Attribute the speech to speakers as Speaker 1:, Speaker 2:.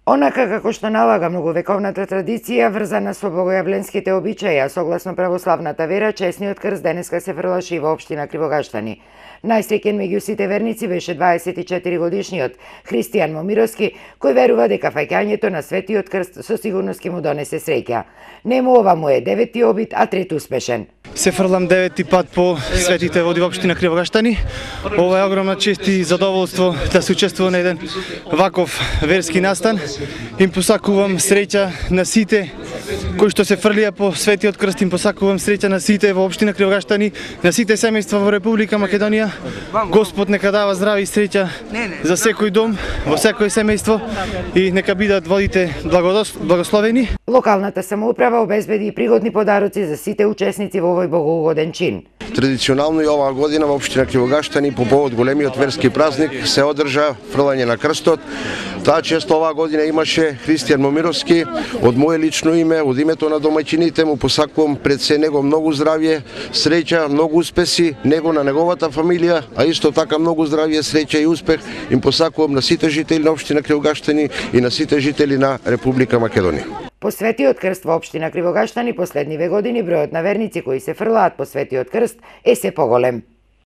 Speaker 1: Онака како што налага многовековната традиција врзана со богојавленските обичаи, а согласно православната вера, чесниот крст денеска се фрлаше и во општина Кривогаштани. Најсреќен меѓу сите верници беше 24 годишниот Христијан Момировски, кој верува дека фаќањето на Светиот крст со сигурност ќе му донесе среќа. Нему ова му е 9-ти обид, а 3 успешен.
Speaker 2: Се фрлам 9-ти пат по светите води во општина Кривогаштани. Ова е огромна чест и задоволство да се учествува на еден ваков верски настан. Им посакувам среќа на сите кои што се фрлија по Светиот крст, им посакувам среќа на сите во општина Кривогаштани, на сите семејства во Република Македонија. Господ нека дава здраве и среќа за секој дом, во секој семејство и нека бидат водите благословени.
Speaker 1: Локалната самоуправа обезбеди и пригодни подароци за сите учесници во овој богоугоден чин.
Speaker 3: Традиционално и оваа година во општина Кривогаштани по повод големиот верски празник се одржа фрлање на крстот. Таа чест оваа година имаше Христијан Момировски. Од мое лично име, од името на домаќините му посакувам пред се него многу здравје, среќа, многу успеси, него на неговата фамилија, а исто така многу здравје, среќа и успех им посакувам на сите жители на општина Кривогаштани и на сите жители на Република Македонија.
Speaker 1: По Светиот крст во општина Кривогаштани последниве години бројот на верници кои се фрлаат по Светиот крст е се поголем.